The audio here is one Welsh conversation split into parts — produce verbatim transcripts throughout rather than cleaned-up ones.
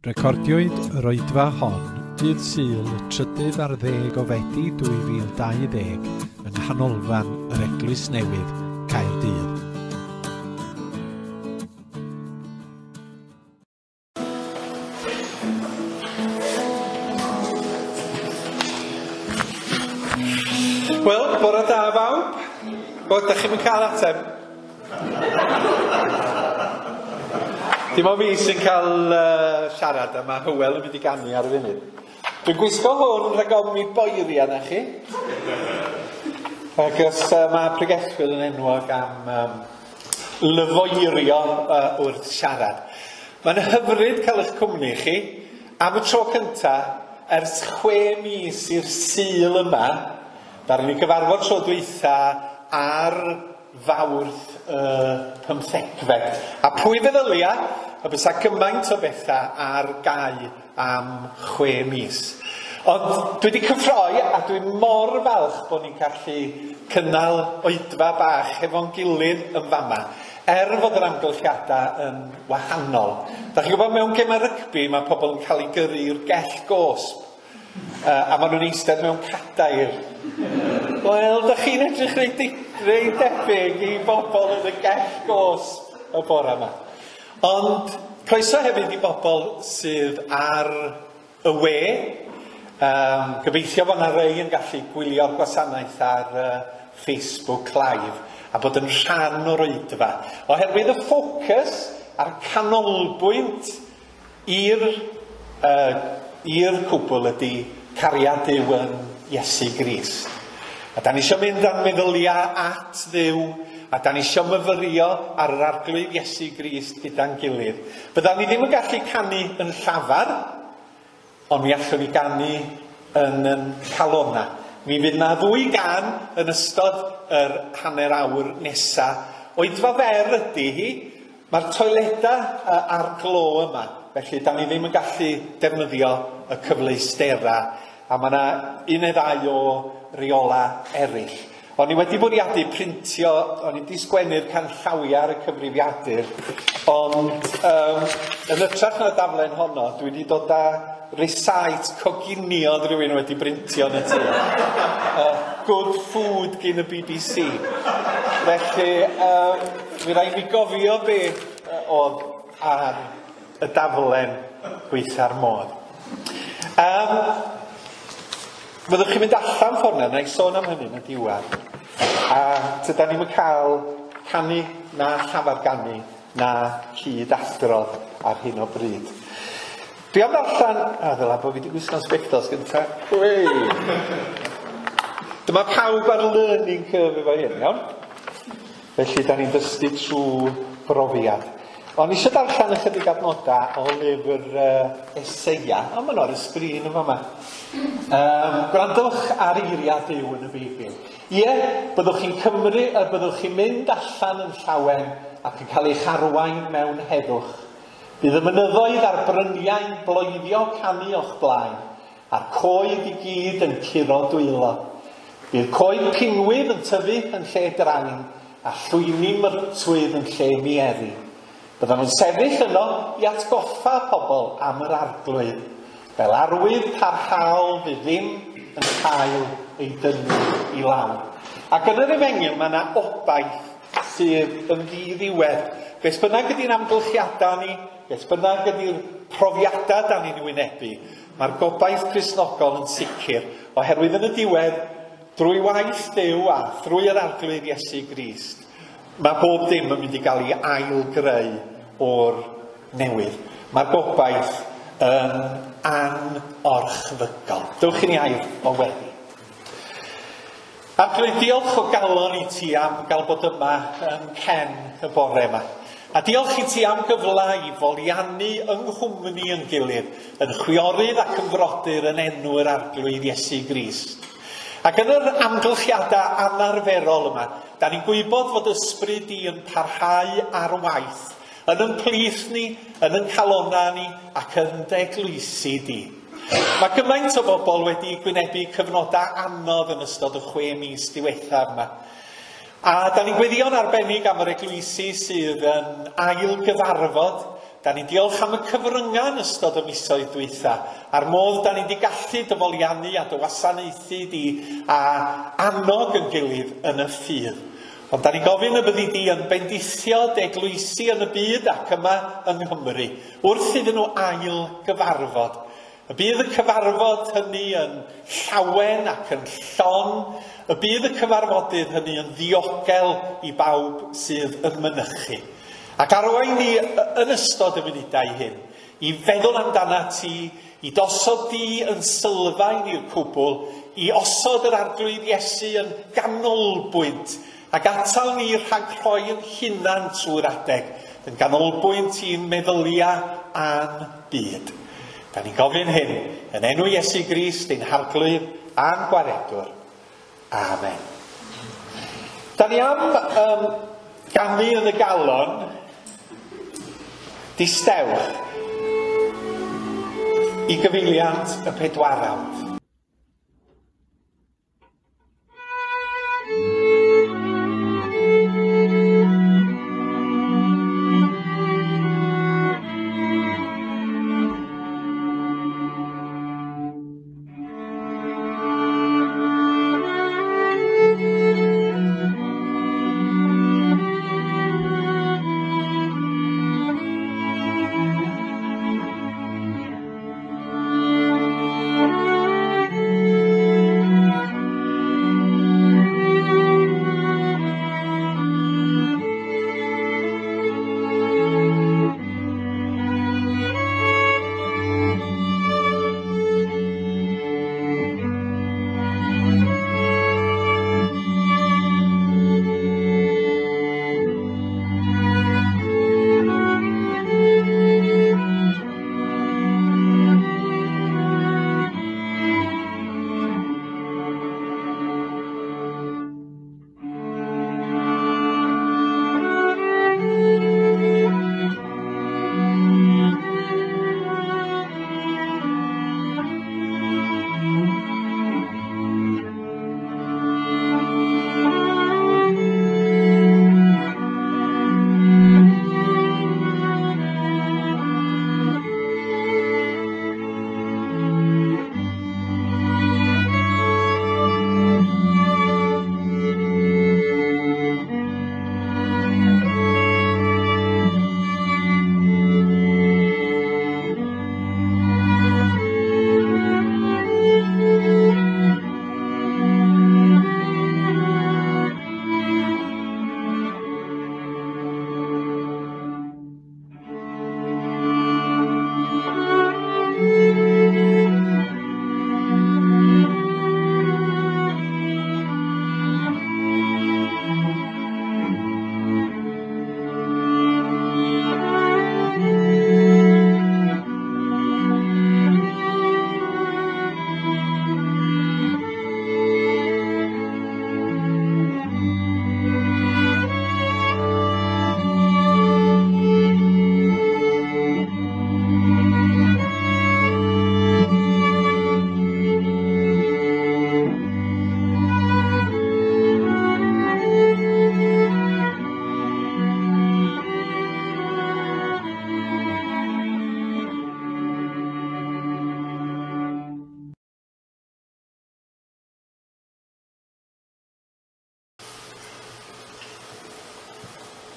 Recordiwyd yr oedfa hon dydd Sul trydydd ar ddeg o Fedi dwy fil dau ddeg yng Nghanolfan yr Eglwys Newydd, Caerdydd. Wel, bore da bawb. Wel, da chi'm yn cael ateb. Dim ond fi sy'n cael uh, siarad a mae Hywel yn mynd i ganu ar y funud. Dwi'n gwisgo hwn rhag ofn mi boeri arna chi. Ac os uh, mae pregethwyr yn enwog am um, lyfoerio uh, wrth siarad. Mae'n hyfryd cael eich cwmni chi. Am y tro cynta, ers chwe mis i'r Sul yma, ddaru ni gyfarfod tro dwytha ar Fawrth y pymthegfed. A pwy feddylia y bysa gymaint o bethau ar gau am chwe mis. Ond dwi wedi cyffroi a dwi mor falch bod ni'n gallu cynnal oedfa bach hefo'n gilydd yn fama, er fod yr amgylchiadau yn wahanol. Da chi'n gwybod mewn gemau rygbi mae pobl yn cael eu gyrru i'r gell gosb. Uh, a maen nhw'n eistedd mewn cadair. Wel, da chi'n edrych reit, reit debyg i bobl yn y gell gosb y bore yma. Ond croeso hefyd i bobl sydd ar y we. Um, gobeithio bod yna rei yn gallu gwylio'r gwasanaeth ar uh, Facebook Live a bod yn rhan o'r oedfa. Oherwydd y ffocws a'r canolbwynt i'r uh, i'r cwbl ydy cariad Duw yn Iesu Grist. A da ni isio mynd â'n meddyliau at Dduw, a da ni isio myfyrio ar yr Arglwydd Iesu Grist gyda'n gilydd. Byddan ni ddim yn gallu canu yn llafar, ond mi allwn ni ganu yn yn calona. Mi fydd na ddwy gan yn ystod yr hanner awr nesa. Oedfa fer ydy hi, mae'r toiledau ar glo yma. Felly, da ni ddim yn gallu defnyddio y cyfleusterau, a mae yna un neu ddau o reola eraill. O'n i wedi bwriadu printio, o'n i wedi sgwennu'r canllawiau ar y cyfrifiadur, ond um, yn hytrach na daflen honno, dwi wedi dod â recipe coginio oedd rhywun wedi brintio yn y tŷ. Uh, good food gyn y B B C. Felly, um, mi raid mi gofio be oedd ar y daflen gweitha'r modd. Um, fyddwch chi'n mynd allan ffordd yna, na i sôn am hynny yn y diwedd. A tydan ni'm yn cael canu na llafar ganu na cyd adrodd ar hyn o bryd. Dwi am ddarllen... A ddyla bod fi wedi gwisgo'n sbectols gynta. Wei! Dyma pawb ar learning curve efo hyn, iawn? Felly, da ni'n dysgu trwy brofiad. O'n i eisiau darllen ychydig adnodau o lyfr uh, Eseia, ond maen nhw ar y sgrin yn fama. Um, gwrandwch ar eiriau Duw yn y Beibl. Ie, byddwch chi'n cymru, a byddwch chi'n mynd allan yn llawen ac yn cael eich arwain mewn heddwch. Bydd y mynyddoedd a'r bryniau'n bloeddio canu o'ch blaen, a'r coed i gyd yn curo dwylo. Bydd coed pinwydd yn tyfu yn lle drain, a llwyni myrtwydd yn lle mieri. Byddan nhw'n sefyll yno i atgoffa pobl am yr Arglwydd, fel arwydd parhaol fydd ddim yn cael ei dynnu i lawr. Ac yn yr Efengyl mae yna obaith sydd yn ddiddiwedd. Beth bynnag ydy'n amgylchiadau ni, beth bynnag ydy'r profiadau da ni'n wynebu, mae'r gobaith Cristnogol yn sicr, oherwydd yn y diwedd, drwy waith Duw a thrwy yr Arglwydd Iesu Grist, mae bob dim yn mynd i gael ei ail-greu o'r newydd. Mae'r gobaith yn anorchfygol. Dewch i ni air o weddi. Arglwydd, diolch o galon i ti am gael bod yma yn cen y bore yma. A diolch i ti am gyfle i foliannu yng nghwmni yn gilydd, yn chwiorydd ac yn frodyr yn enw yr Arglwydd Iesu Grist. Ac yn yr amgylchiadau anarferol yma, da ni'n gwybod fod ysbryd di yn parhau ar waith, yn yn plith ni, yn yn calona ni, ac yn dy eglwysi di. Mae gymaint o bobl wedi gwynebu cyfnodau anodd yn ystod y chwe mis diwethaf yma. A da ni'n gweddïo'n arbennig am yr eglwysi sydd yn ail gyfarfod Da ni'n diolch am y cyfryngau yn ystod y misoedd dwytha, a'r modd da ni wedi gallu dyfoliannu a dy wasanaethu di a annog yn gilydd yn y ffydd. Ond da ni'n gofyn y byddi di yn bendithio dy eglwysi yn y byd ac yma yng Nghymru, wrth iddyn nhw ail gyfarfod. Y bydd y cyfarfod hynny yn llawen ac yn llon, y bydd y cyfarfodydd hynny yn ddiogel i bawb sydd yn mynychu. Ac arwain ni yn ystod y munudau hyn, i feddwl amdana ti, i dosod di yn sylfaen i'r cwbl, i osod yr Arglwydd Iesu yn ganolbwynt, ac atal ni rhag rhoi yn hunan trwy'r adeg, yn ganolbwynt i'n meddyliau a'n byd. Da ni'n gofyn hyn yn enw Iesu Grist, ein Harglwydd a'n Gwaredwr. Amen. Da ni am um, ganu yn y galon, distewch i gyfeiliant y pedwarawd.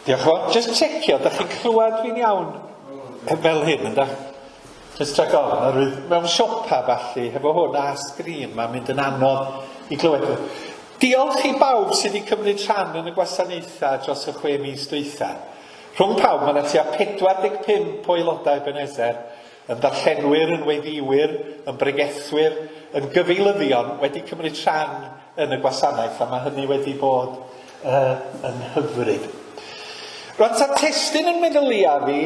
Diolch yn fawr. Just checio, da chi'n clywed fi'n iawn fel hyn, ynda? Just rhag ofn, oherwydd mewn siopa falle, hefo hwn a sgrin, mae'n mynd yn anodd i glywed. Diolch i bawb sydd wedi cymryd rhan yn y gwasanaethau dros y chwe mis dwytha. Rhwng pawb, mae yna tua pedwar deg pump o aelodau Ebenezer, yn ddarllenwyr, yn weddïwyr, yn bregethwyr, yn gyfeilyddion wedi cymryd rhan yn y gwasanaeth, a mae hynny wedi bod uh, yn hyfryd. Rwan, ta testun yn meddylia fi,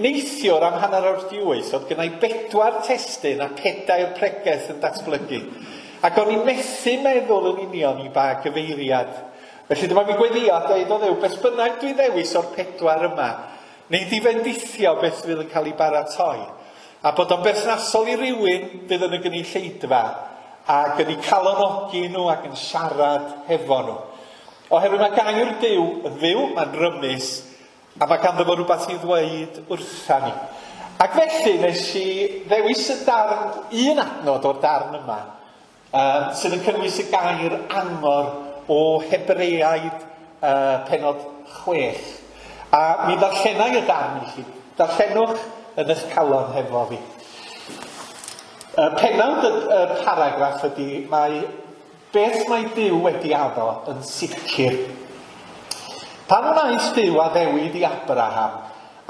neithiwr am hanner awr di wyth, oedd gynna i bedwar testun a pedair pregeth yn datblygu. Ac o'n i'n methu meddwl yn union i ba gyfeiriad. Felly dyma fi gweddio a dweud o Dduw, beth bynnag dwi ddewis o'r pedwar yma, neu di fendithio beth fydd yn cael ei baratoi. A bod o'n berthnasol i rywun fydd yn y gynulleidfa, ac yn eu calonogi nhw ac yn siarad hefo nhw. Oherwydd mae gair Duw yn fyw, mae'n rymus, A mae ganddo fo rhywbeth i ddweud wrtha ni. Ac felly nes i ddewis y darn, un adnod o'r darn yma, um, sydd yn cynnwys y gair angor o Hebreaid uh, pennod chwech. A mi ddarllenai y darn i chi. Darllenwch yn eich calon hefo fi. Y pennawd y, y paragraff ydy, mae beth mae Duw wedi addo yn sicr. Pan wnaeth Duw addewid i Abraham,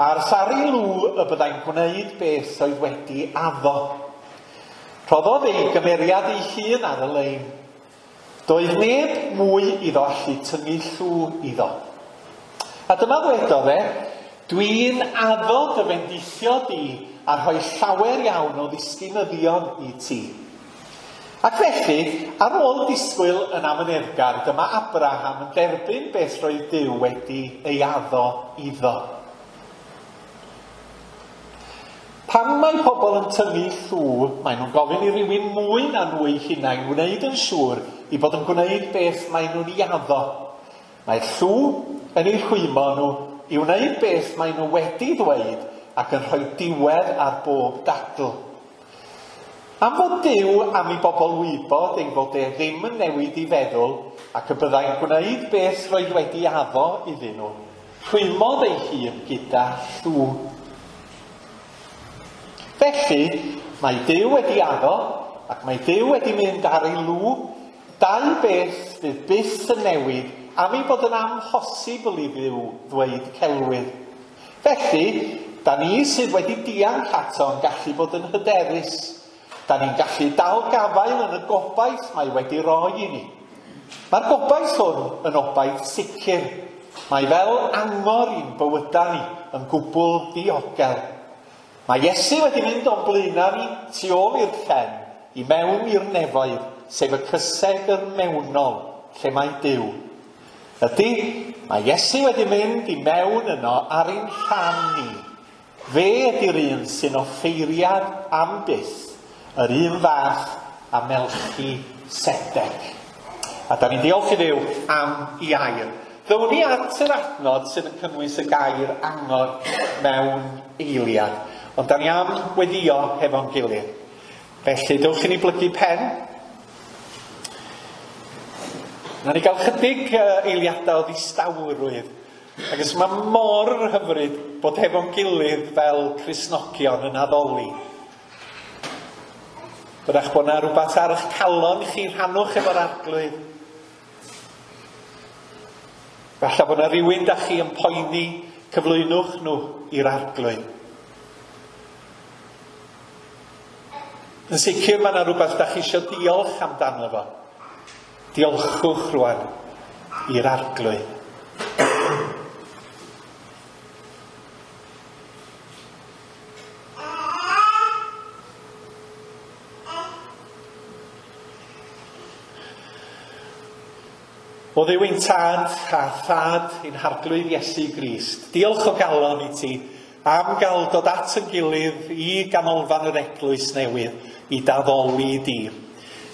a'r sari lw y byddai'n gwneud beth oedd wedi addo. Rhoddodd ei gymeriad ei hun ar y lein. Doedd neb mwy iddo allu tynnu llw iddo. A dyma ddwedodd e, dwi'n addo dy fendithio di a rhoi llawer iawn o ddisgynyddion i ti. Ac felly, ar ôl disgwyl yn amyneddgar, dyma Abraham yn derbyn beth roedd Duw wedi ei addo iddo. Pan mae pobl yn tynnu llw, maen nhw'n gofyn i rywun mwy na nhw eu hunain wneud yn siŵr i bod yn gwneud beth maen nhw'n ei addo. Mae llw yn eu rhwymo nhw i wneud beth maen nhw wedi ddweud ac yn rhoi diwedd ar bob dadl. Am fod Duw am i bobl wybod ei fod e ddim yn newid i feddwl ac y byddai'n gwneud beth roedd wedi addo iddyn nhw, rhwymodd ei hun gyda llw. Felly, mae Duw wedi addo ac mae Duw wedi mynd ar ei lw, dau beth fydd byth yn newid am ei bod yn amhosibl i Dduw ddweud celwydd. Felly, da ni sydd wedi dianc ato yn gallu bod yn hyderus. Da ni'n gallu dal gafael yn y gobaith mae wedi roi i ni. Mae'r gobaith hwn yn obaith sicr. Mae fel angor i'n bywydau ni yn gwbl ddiogel. Mae Iesu wedi mynd o'n blaenau ni tu ôl i'r llen, i mewn i'r nefoedd, sef y cysegr mewnol, lle mae Duw. Ydy, mae Iesu wedi mynd i mewn yno ar ein rhan ni. Fe ydy'r un sy'n offeiriad am byth, yr un fath a Melchisedec. A da ni'n diolch i Dduw am ei air. Ddown ni at yr adnod sydd yn cynnwys y gair angor mewn eiliad. Ond da ni am weddio hefo'n gilydd. Felly, dewch i ni blygu pen. Na ni gael chydig eiliadau o ddistawrwydd. Ac os mae mor hyfryd bod hefo'n gilydd fel Cristnogion yn addoli. Bydach bod yna rhywbeth ar eich calon chi, rhannwch efo'r Arglwydd. Falle bod yna rhywun da chi yn poeni, cyflwynwch nhw i'r Arglwydd. Yn sicr mae yna rhywbeth da chi eisiau diolch amdano fo. Diolchwch rwan i'r Arglwydd. O Dduw ein tad a thad ein Harglwydd Iesu Grist, diolch o galon i ti am gael dod at yn gilydd i ganolfan yr eglwys newydd i daddoli di.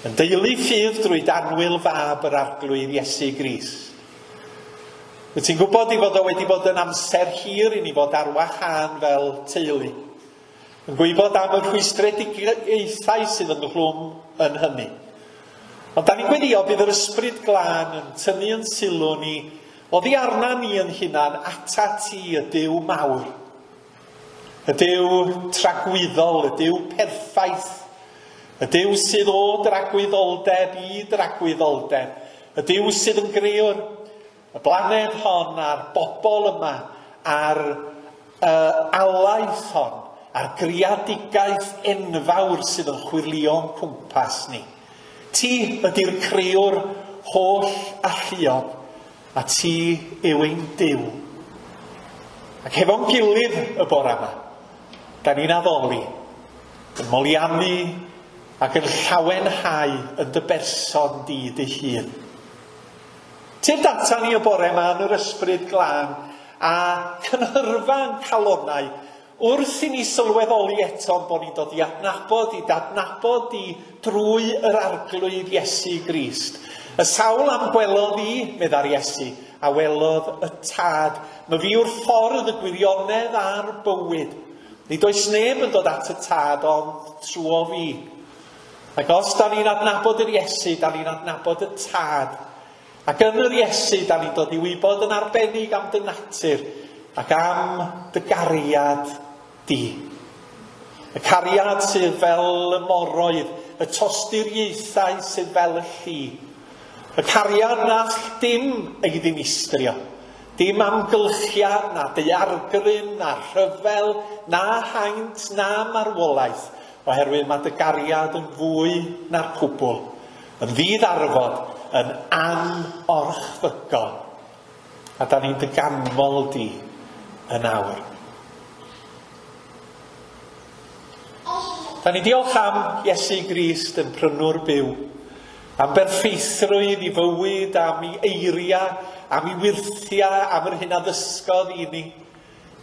Yn deulu ffydd drwy danwyl fab yr Arglwydd Iesu Grist. Wyt ti'n gwybod i fod o wedi bod yn amser hir i ni fod ar wahân fel teulu. Yn gwybod am y rhwystredigaethau sydd ynghlwm yn hynny. Ond da ni'n gweddio bydd yr Ysbryd Glân yn tynnu yn sylw ni oddi arna ni yn hunan ata ti y Duw mawr. Y Duw tragwyddol, y Duw perffaith, y Duw sydd o dragwyddoldeb i dragwyddoldeb, y Duw sydd yn grëwr y blaned hon a'r bobl yma, a'r uh, alaeth hon, a'r greadigaeth enfawr sydd yn chwyrlio'n cwmpas ni. Ti ydy'r crëwr holl alluog, a ti yw ein Duw. Ac hefo'n gilydd y bore yma, da ni'n addoli, yn moliannu ac yn llawenhau yn dy berson di dy hun. Ti'n data ni y bore yma yn yr Ysbryd Glân a cynhyrfa yn calonnau wrth i ni sylweddoli eto bod ni'n dod i adnabod, i dadnabod i drwy yr Arglwydd Iesu Grist. Y sawl am gwelodd i, meddai'r Iesu, a welodd y Tad. Mae fi yw'r ffordd, y gwirionedd a'r bywyd. Nid oes neb yn dod at y Tad ond trwy fi. Ac os da ni'n adnabod yr Iesu, da ni'n adnabod y Tad. Ac yn yr Iesu, da ni'n dod i wybod yn arbennig am dy natur ac am dy gariad di. Y cariad sydd fel y moroedd, y tosturiaethau sydd fel y lli. Y cariad na all dim ei ddinistrio. Dim amgylchiad, na daeargryn, na rhyfel, na haint, na marwolaeth, oherwydd mae dy gariad yn fwy na'r cwbl, yn ddiddarfod, yn anorchfygol. A da ni'n dy ganmol di yn awr. Da ni diolch am Iesu Grist yn prynwr byw, am berffeithrwydd i fywyd, am ei eiriau, am ei wyrthiau, am yr hyn a ddysgodd i ni.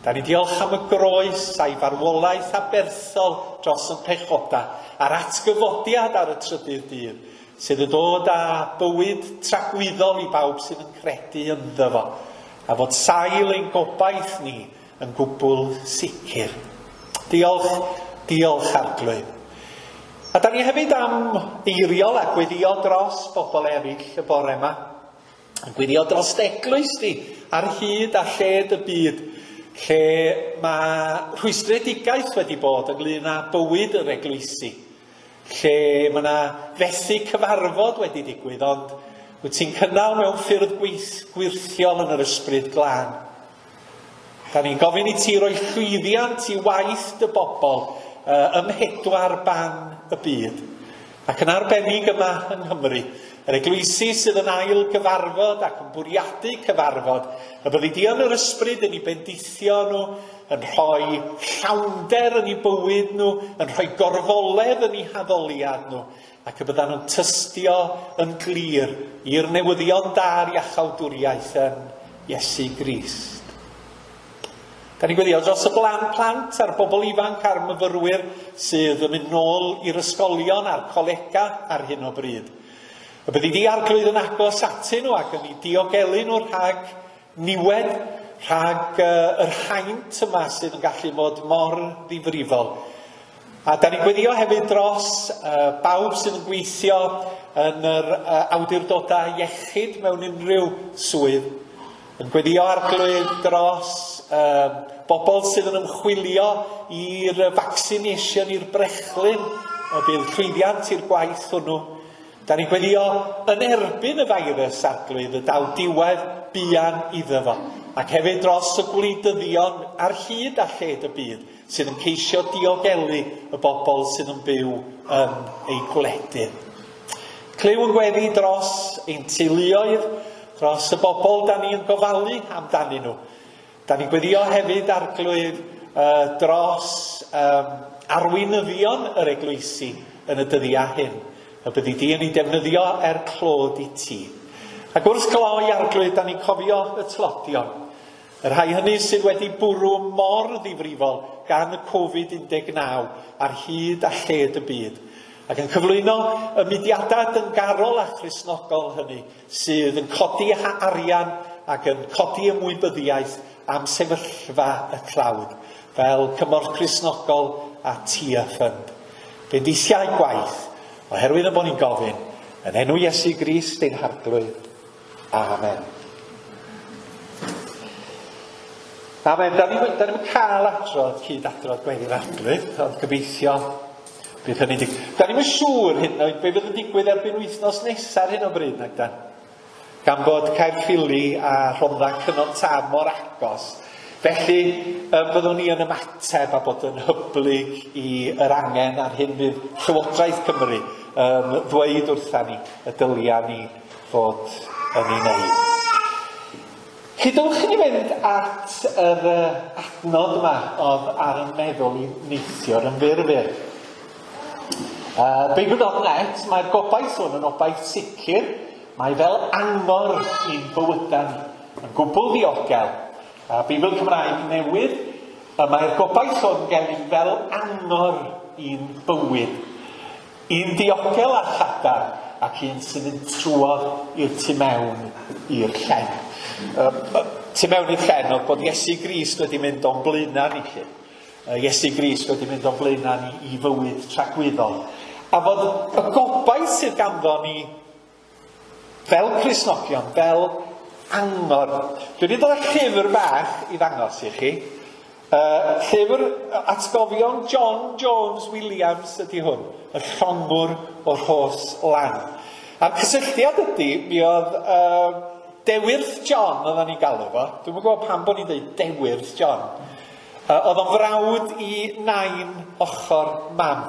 Da ni diolch am y groes a'i farwolaeth aberthol dros yn pechoda, a'r atgyfodiad ar y trydydd dydd, sydd yn dod â bywyd tragwyddol i bawb sydd yn credu ynddo fo, a fod sail ein gobaith ni yn gwbl sicr. Diolch, diolch Arglwydd. A da ni hefyd am eiriol a gweddio dros bobl eraill y bore yma. Yn gweddio dros eglwys di ar hyd a lled y byd, lle mae rhwystredigaeth wedi bod ynglyn â bywyd yr eglwysi, lle mae yna fethu cyfarfod wedi digwydd, ond wyt ti'n cynnal mewn ffyrdd gwirthiol yn yr ysbryd glân. Da ni'n gofyn i ti roi llwyddiant i waith dy bobl uh, ym mhedwar ban y byd. Ac yn arbennig yma yng Nghymru, yr eglwysi sydd yn ail gyfarfod ac yn bwriadu cyfarfod, y byddi di yn yr ysbryd yn eu bendithio nhw, yn rhoi llawnder yn eu bywyd nhw, yn rhoi gorfoledd yn eu haddoliad nhw, ac y byddan nhw'n tystio yn glir i'r newyddion da'r iachawdwriaeth yn Iesu Grist. Da ni'n gweddio dros y blan plant a'r bobl ifanc a'r myfyrwyr sydd yn mynd nôl i'r ysgolion a'r colega ar hyn o bryd. Y byddi di Arglwydd yn agos atyn nhw ac yn eu diogelu nhw rhag niwed, rhag uh, yr haint yma sydd yn gallu bod mor ddifrifol. A da ni'n gweddio hefyd dros uh, bawb sydd yn gweithio yn yr uh, awdurdodau iechyd mewn unrhyw swydd. Yn gweddio Arglwydd dros uh, bobl sydd yn ymchwilio i'r vaccination, i'r brechlyn, y bydd llwyddiant i'r gwaith hwnnw. Da ni'n gweddio yn erbyn y feirws, Arglwydd, y daw diwedd buan iddo fo. Ac hefyd dros y gwleidyddion ar hyd a lled y byd sydd yn ceisio diogelu y bobl sydd yn byw yn eu gwledydd. Clyw yn gweddi dros ein teuluoedd, dros y bobl da ni'n gofalu amdanyn nhw. Da ni'n gweddio hefyd Arglwydd uh, dros um, arweinyddion yr eglwysi yn y dyddiau hyn. Y byddi di yn ei defnyddio er clod i ti. Ac wrth gloi Arglwydd, da ni'n cofio y tlodion. Y rhai hynny sydd wedi bwrw mor ddifrifol gan y Covid un deg naw ar hyd a lled y byd. Ac yn cyflwyno y mudiadau dyngarol a Christnogol hynny sydd yn codi arian ac yn codi ymwybyddiaeth am sefyllfa y tlawd, fel Cymorth Cristnogol a Tia Fund. Bendithiau gwaith, oherwydd y bod ni'n gofyn, yn enw Iesu Grist ein Harglwydd. Amen. Amen. Da ni'n cael adrodd, cyd adrodd gweddi'r Arglwydd, ond gobeithio bydd hynny'n digwydd. Da ni'n siŵr hyd yn oed be fydd yn digwydd erbyn wythnos nesaf ar hyn o bryd, nag dan? Gan bod Caerffili a Rhondda Cynon Taf mor agos. Felly, byddwn ni yn ymateb a bod yn hyblyg i yr angen ar hyn fydd Llywodraeth Cymru yn ddweud wrtha ni y dylia ni fod yn ei wneud. Cydwch i ni fynd at yr adnod yma oedd ar y meddwl i neithiwr yn fyr fyr. Uh, Beibl dot net, mae'r gobaith hwn yn obaith sicr, mae fel angor i'n bywydau ni, yn gwbl ddiogel. A Beibl Cymraeg newydd, mae'r gobaith hwn gennym fel angor i'n bywyd. Un diogel a chadarn, ac un sy'n mynd trwodd i'r tu mewn i'r llen. Uh, tu mewn i'r llen oedd bod Iesu Grist wedi mynd o'n blaenau ni lle. Uh, Iesu Grist wedi mynd o'n blaenau ni i fywyd tragwyddol. A fod y gobaith sydd ganddo ni fel Cristnogion, fel angor. Dwi wedi dod â llyfr bach i ddangos i chi. Uh, llyfr atgofion John Jones Williams ydy hwn, y llongwr o'r Rhos Lan. A'r cysylltiad ydy, mi oedd uh, Dewyrth John oedden ni'n galw fo. Dwi'm yn gwybod pam bod ni'n dweud Dewyrth John. Uh, oedd o'n frawd i nain ochr mam.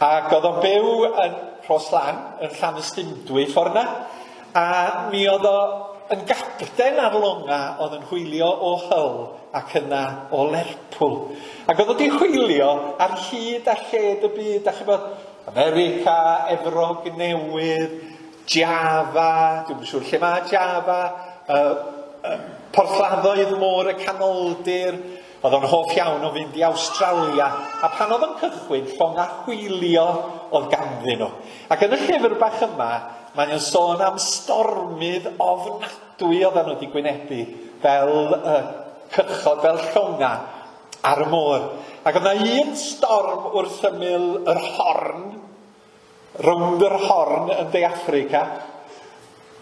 Ac oedd o'n byw yn Rhos Lan, yn Llanystumdwy ffordd yna. A mi oedd o yn gapten ar longa oedd yn hwylio o Hull ac yna o Lerpwl. Ac oedd wedi hwylio ar hyd a lled y byd, a chybod, America, Efrog Newydd, Java, dwi'm yn siŵr lle mae Java, uh, uh, porthladdoedd môr y Canoldir. Oedd o'n hoff iawn o fynd i Awstralia, a pan oedd o'n cychwyn, llonga hwylio oedd ganddyn nhw. Ac yn y llyfr bach yma, mae'n sôn am stormydd ofnadwy oedden nhw wedi gwynebu fel uh, cychod, fel llonga ar y môr. Ac oedd yna un storm wrth ymyl yr Horn, rownd yr Horn yn De Affrica.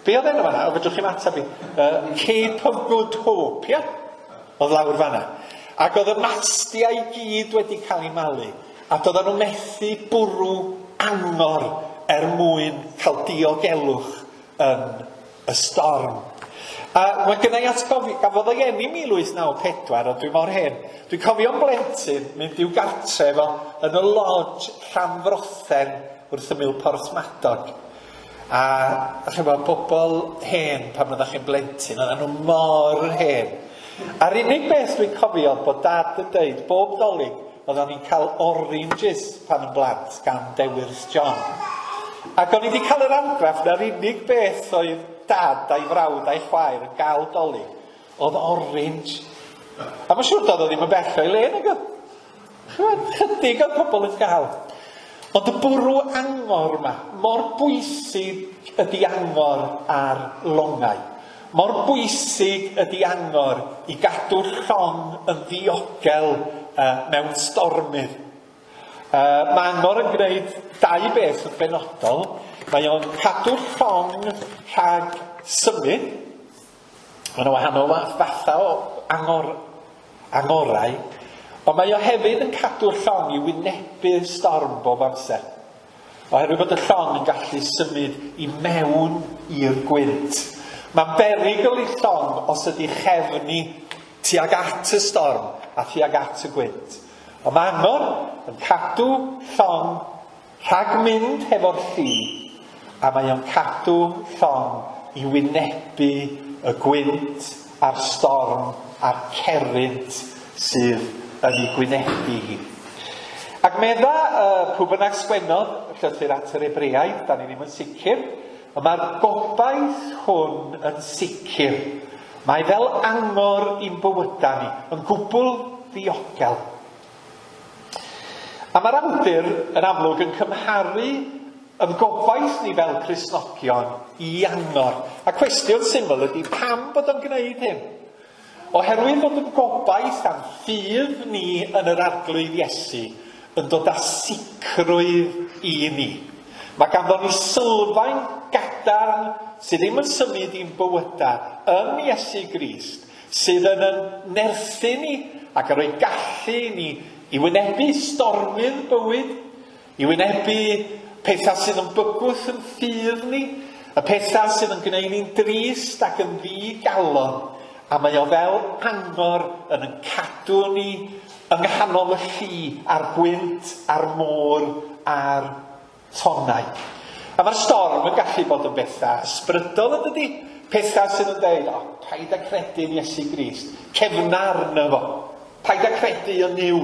Be oedd enw fanna? O, fedrwch chi'm ateb i. Uh, Cape of Good Hope, ia? Oedd lawr fanna. Ac oedd y mastiau i gyd wedi cael eu malu. A doedden nhw methu bwrw angor er mwyn cael diogelwch yn y storm. A mae gynna i atgofi, gafodd ei eni mil wyth naw pedwar, ond dwi mor hen. Dwi'n cofio'n blentyn mynd i'w gartref o yn y lodge Llanfrothen wrth ymyl Porthmadog. A ch'mod, bobl hen pan oeddech chi'n blentyn, oedden nhw mor hen. A'r unig beth dwi'n cofio oedd bod Dad yn deud bob Dolig oedden ni'n cael oranges pan yn blant gan Dewyrth John. Ac o'n i wedi cael yr argraff na'r unig beth oedd Dad a'i frawd a'i chwaer yn gael Dolig oedd orange. A mae'n siŵr doedd o ddim yn bell o'i le, nag oedd? Ch'mod, chydig oedd pobl yn gael. Ond y bwrw angor yma, mor bwysig ydy angor ar longau. Mor bwysig ydy angor i gadw'r llong yn ddiogel uh, mewn stormydd. Uh, mae angor yn gwneud dau beth yn benodol. Mae o'n cadw'r llong rhag symud. Mae yna wahanol fathau o angor, angorau. Ond mae o hefyd yn cadw'r llong i wynebu'r storm bob amser. Oherwydd bod y llong yn gallu symud i mewn i'r gwynt. Mae'n berygl i llong os ydy chefni tuag at y storm a tuag at y gwynt. Ond mae angor yn cadw llong rhag mynd hefo'r lli, a mae o'n cadw llong i wynebu y gwynt a'r storm a'r cerrynt sydd yn ei gwynebu hi. Ac medda uh, pwy bynnag sgwennodd y llythyr at yr Hebreaid, da ni ddim yn sicr, ond mae'r gobaith hwn yn sicr. Mae fel angor i'n bywydau ni, yn gwbl ddiogel. A mae'r awdur yn amlwg yn cymharu yn gobaith ni fel Cristnogion i angor. A cwestiwn syml ydy pam bod o'n gwneud hyn? Oherwydd bod yn gobaith a'n ffydd ni yn yr Arglwydd Iesu yn dod â sicrwydd i ni. Mae ganddo ni sylfaen gadarn sydd ddim yn symud i'n bywydau yn Iesu Grist, sydd yn yn nerthu ni ac yn rhoi gallu i ni i wynebu stormydd bywyd, i wynebu pethau sydd yn bygwth yn ffydd ni, y pethau sydd yn gwneud ni'n drist ac yn ddigalon. A mae o fel angor yn yn cadw ni yng nghanol y lli a'r gwynt a'r môr a'r tonnau. A mae'r storm yn gallu bod yn bethau ysbrydol, yn dydi? Pethau sydd yn dweud, o, paid â credu yn Iesu Grist, cefna arno fo, paid â credu yn Nuw.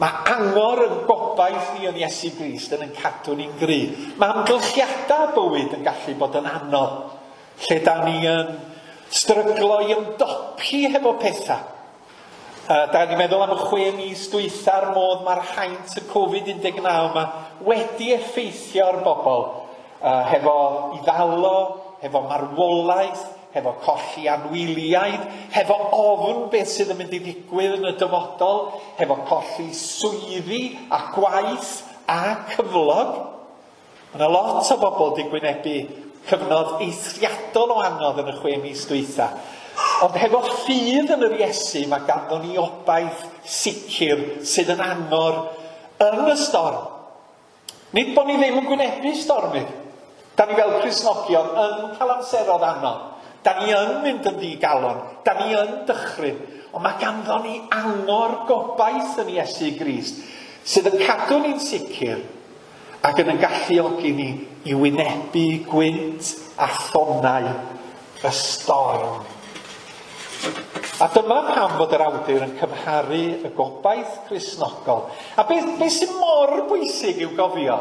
Mae angor yn gobaith ni yn Iesu Grist yn yn cadw ni'n gry. Mae amgylchiadau bywyd yn gallu bod yn anodd, lle da ni yn stryglo i ymdopi hefo pethau. Uh, da ni'n meddwl am y chwe mis dwytha'r modd mae'r haint y Covid un deg naw yma wedi effeithio ar bobl. uh, hefo iddalo, hefo marwolaeth, hefo colli anwyliaid, hefo ofn beth sydd yn mynd i ddigwydd yn y dyfodol, hefo colli swyddi a gwaith a cyflog. Mae yna lot o bobl wedi gwynebu cyfnod eithriadol o anodd yn y chwe mis dwytha. Ond hefo ffydd yn yr Iesu, mae ganddo ni obaith sicr sydd yn angor yn y storm. Nid bod ni ddim yn gwynebu stormydd. Da ni fel Cristnogion yn cael amseroedd anodd. Da ni yn mynd yn ddigalon. Da ni yn dychryn. Ond mae ganddo ni angor gobaith yn Iesu Grist sydd yn cadw ni'n sicr ac yn yn galluogi ni i wynebu gwynt a thonnau y storm. A dyma pam fod yr awdur yn cymharu y gobaith Cristnogol. A beth, beth sy'n mor bwysig i'w gofio,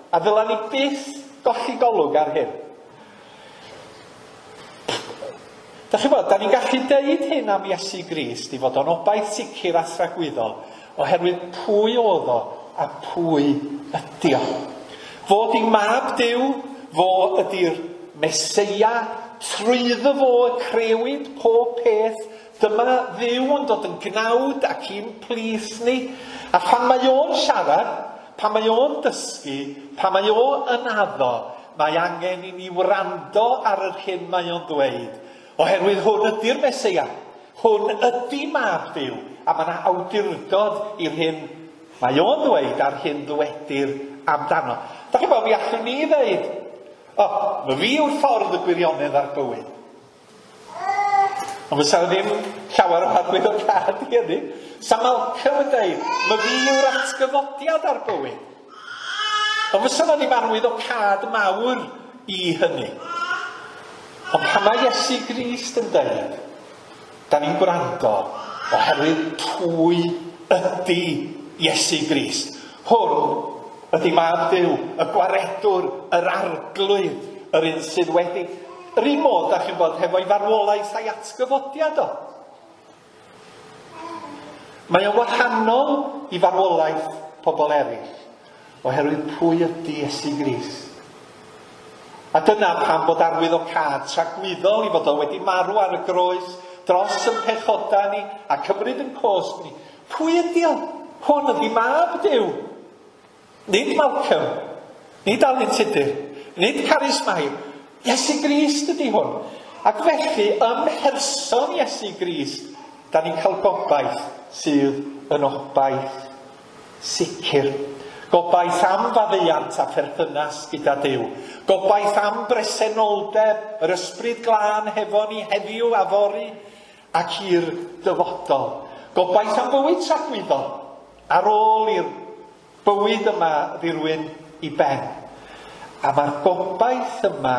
a ddyla ni byth golli golwg ar hyn. Da chi'n bod, da ni'n gallu deud hyn am Iesu Grist i fod o'n obaith sicr a thragwyddol, oherwydd pwy oedd o a pwy ydi o. Fo 'di mab Duw, fo ydi'r Meseia, trwyddo fo y crewyd pob peth. Dyma Dduw yn dod yn gnawd ac i'n plith ni. A phan mae o'n siarad, pan mae o'n dysgu, pan mae o yn addo, mae angen i ni wrando ar yr hyn mae o'n ddweud. Oherwydd hwn ydy'r Meseia, hwn ydy mab Duw, a mae yna awdurdod i'r hyn mae o'n ddweud a'r hyn ddwedir amdano. Da chi'n bod, mi allwn ni ddeud, o, oh, mae fi yw'r ffordd y gwirionedd a'r bywyd. Ond fysa ddim llawer o arwyddocâd i hynny. Sa Malcolm yn dweud, mae fi yw'r atgyfodiad a'r bywyd. Ond fysa na ddim arwyddocâd mawr i hynny. Ond pan mae Iesu Grist yn dweud, da ni'n gwrando oherwydd pwy ydy Iesu Grist. Hwn ydy mab Duw, y gwaredwr, yr arglwydd, yr un sydd wedi. Yr un modd, da chi'n bod, hefo'i farwolaeth a'i atgyfodiad o. Mae o'n wahanol i farwolaeth pobl eraill, oherwydd pwy ydy Iesu Grist. A dyna pam bod arwyddocâd tragwyddol i fod o wedi marw ar y groes dros yn pechoda ni a cymryd yn cosb ni. Pwy ydy o? Hwn ydy mab Duw. Nid Malcolm, nid Alun Tudur, nid Carys Mair. Iesu Grist ydy hwn. Ac felly, ym mherson Iesu Grist, da ni'n cael gobaith sydd yn obaith sicr. Gobaith am faddeuant a pherthynas gyda Duw. Gobaith am bresenoldeb, yr ysbryd glân hefo ni heddiw a fory ac i'r dyfodol. Gobaith am fywyd tragwyddol ar ôl i'r bywyd yma ddirwyn i ben. A mae'r gobaith yma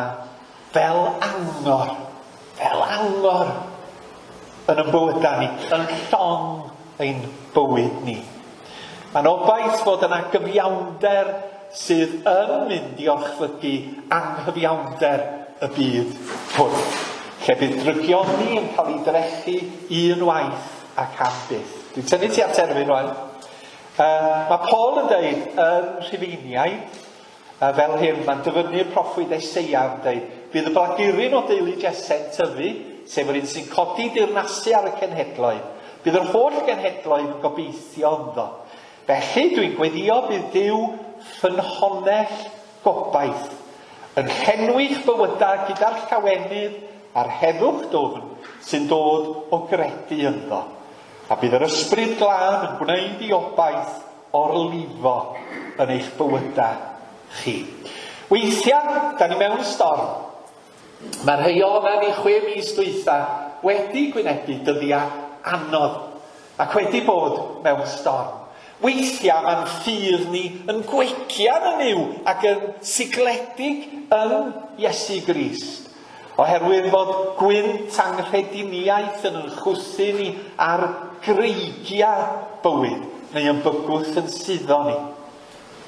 fel angor, fel angor yn y bywydau ni, yn llong ein bywyd ni. Mae'n obaith fod yna gyfiawnder sydd yn mynd i orchfygu anghyfiawnder y byd hwn, lle bydd drygioni yn cael ei drechu un waith ac am byth. Dwi'n tynnu ti at terfyn rwan. Uh, mae Paul yn dweud yn Rhufeiniaid, uh, fel hyn, mae'n dyfynnu'r proffwyd Eseia yn dweud, bydd y blaguryn o deulu Jese'n tyfu, sef yr un sy'n codi dirnasu ar y cenhedloedd. Bydd yr holl genhedloedd yn gobeithio ynddo. Felly dwi'n gweddio bydd Duw ffynhonnell gobaith yn llenwi'ch bywydau gyda'r llawenydd a'r heddwch dwfn sy'n dod o gredu ynddo. A bydd yr ysbryd glân yn gwneud i obaith orlifo yn eich bywydau chi. Weithiau, da ni mewn storm. Mae rhai ohonan ni chwe mis dwytha wedi gwynebu dyddiau anodd ac wedi bod mewn storm. Weithiau mae'n ffydd ni yn gwegian yn Nuw ac yn sigledig yn Iesu Grist. Oherwydd fod gwynt anghrediniaeth yn yn chwythu ni ar greigiau bywyd, neu yn bygwth yn suddo ni.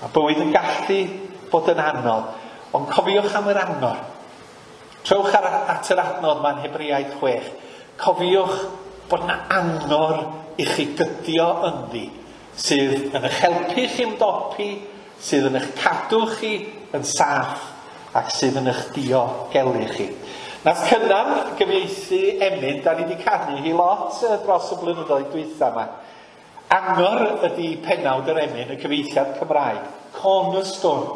Mae bywyd yn gallu bod yn anodd, ond cofiwch am yr angor. Trowch ar, at yr adnod ma'n Hebreaid chwech. Cofiwch bod yna angor i chi gydio ynddi, sydd yn eich helpu chi ymdopi, sydd yn eich cadw chi yn saff ac sydd yn eich diogelu chi. Nath Cynan gyfieithu emyn, da ni wedi canu hi lot dros y blynyddoedd dwytha yma. Angor ydy penawd yr emyn, y cyfieithiad Cymraeg, Cornerstone.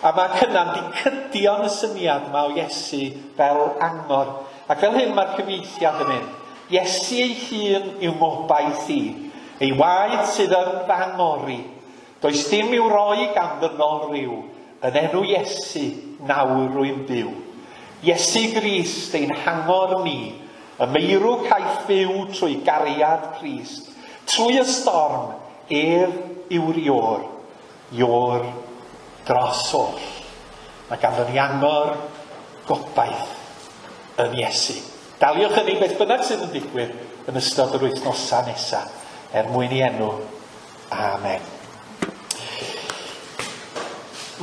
A mae Cynan di cydio yn y syniad yma o Iesu fel angor. Ac fel hyn mae'r cyfieithiad yn mynd. Iesu ei hun yw ngobaith i, ei waed sydd yn fy angori. Does dim i'w roi gan ddynol ryw, yn enw Iesu nawr rwy'n byw. Iesu Grist ein hangor ni, y meirw caiff fyw trwy gariad Crist. Trwy y storm, ef yw'r ior, ior dros oll. Mae ganddo ni angor gobaith yn Iesu. Daliwch hynny beth bynnag sydd yn digwydd yn ystod yr wythnosau nesaf, er mwyn i enw. Amen.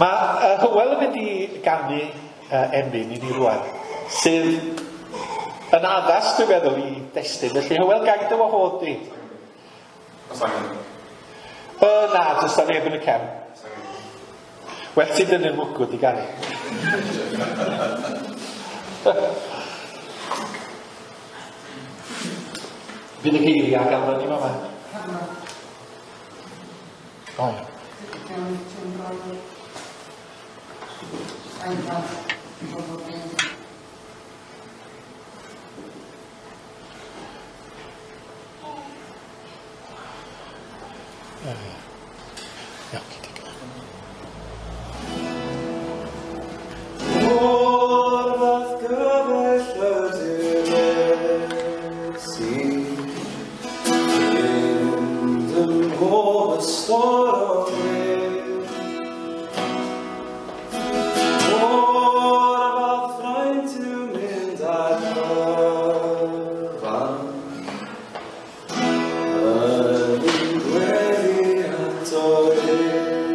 Mae uh, Hywel yn mynd i ganu uh, emyn i ni rwan, sydd yn addas, dwi'n meddwl, i destun. Felly, Hywel, gael dy wahodd di. Os angen? Uh, na, does na neb yn y cefn. Well ti dynnu'r mwgwd i ganu. Fydd y geiriau ganddo ni fama. O ia. Iawn, digon. O'r fath gyfaill ydy'r Iesu, fynd ym mhob ystor o le. O'r fath fraint yw mynd ar cyfan, yn gweddi ato ef.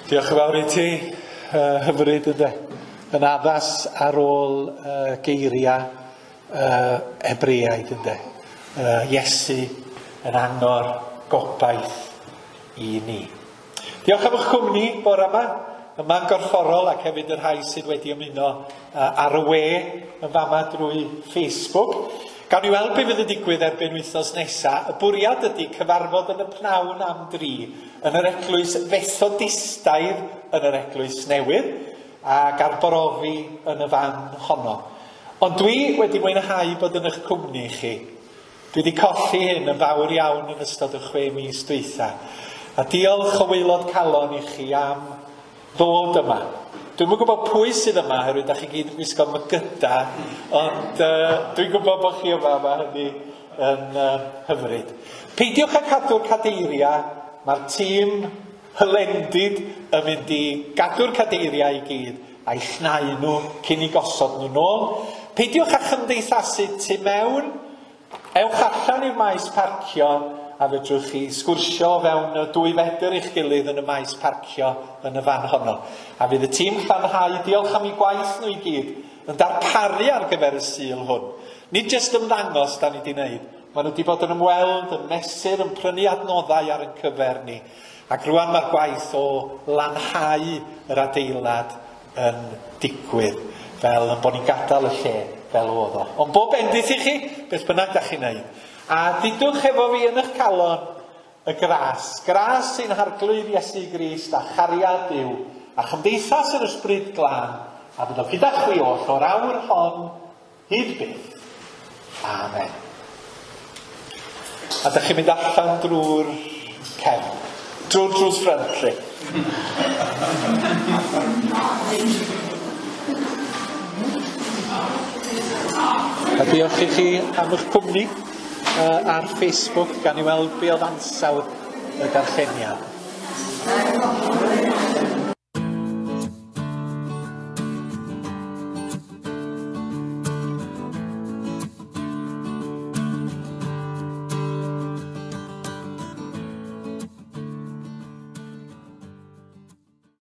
Diolch yn fawr i ti, uh, hyfryd ynde. Yn addas ar ôl uh, geiriau uh, Hebreaid ynde. Uh, Iesu yn angor gobaith i ni. Diolch am eich cwmni bore yma, yma'n gorfforol ac hefyd y rhai sydd wedi ymuno uh, ar y we yn fama drwy Facebook. Gawn ni weld be fydd yn digwydd erbyn wythnos nesaf. Y bwriad ydy cyfarfod yn y pnawn am dri yn yr eglwys Fethodistaidd yn yr eglwys newydd ac arbrofi yn y fan honno. Ond dwi wedi mwynhau bod yn eich cwmni chi. Dwi wedi colli hyn yn fawr iawn yn ystod y chwe mis dwytha. A diolch o waelod calon i chi am ddod yma. Dwi'm yn gwybod pwy sydd yma, oherwydd da chi gyd yn gwisgo mygyda, ond uh, dwi'n gwybod bod chi yma, mae hynny yn uh, hyfryd. Peidiwch â cadw'r cadeiriau, mae'r tîm hylendid yn mynd i gadw'r cadeiriau i gyd a'i llnau nhw cyn i gosod nhw nôl. Peidiwch â chymdeithasu tu mewn, ewch allan i'r maes parcio a fedrwch chi sgwrsio fewn y dwy fedr i'ch gilydd yn y maes parcio yn y fan honno. A fydd y tîm llanhau, diolch am eu gwaith nhw i gyd, yn darparu ar gyfer y Sul hwn. Nid jyst ymddangos da ni wedi wneud. Maen nhw wedi bod yn ymweld, yn mesur, yn prynu adnoddau ar ein cyfer ni. Ac rwan mae'r gwaith o lanhau yr adeilad yn digwydd, fel yn bod ni'n gadael y lle fel oedd o. Ond bob bendith i chi, beth bynnag da chi'n neud. A dudwch efo fi yn eich calon y gras. Gras sy'n Harglwydd Iesu Grist a chariad Duw a chymdeithas yr Ysbryd Glân a fydd o gyda chwi oll o'r awr hon hyd byth. Amen. A dych chi'n mynd allan drwy'r cefn. Drwy'r drws ffrynt, lle. A diolch i chi am eich cwmni uh, ar Facebook, gan i weld be oedd ansawdd y darlleniad.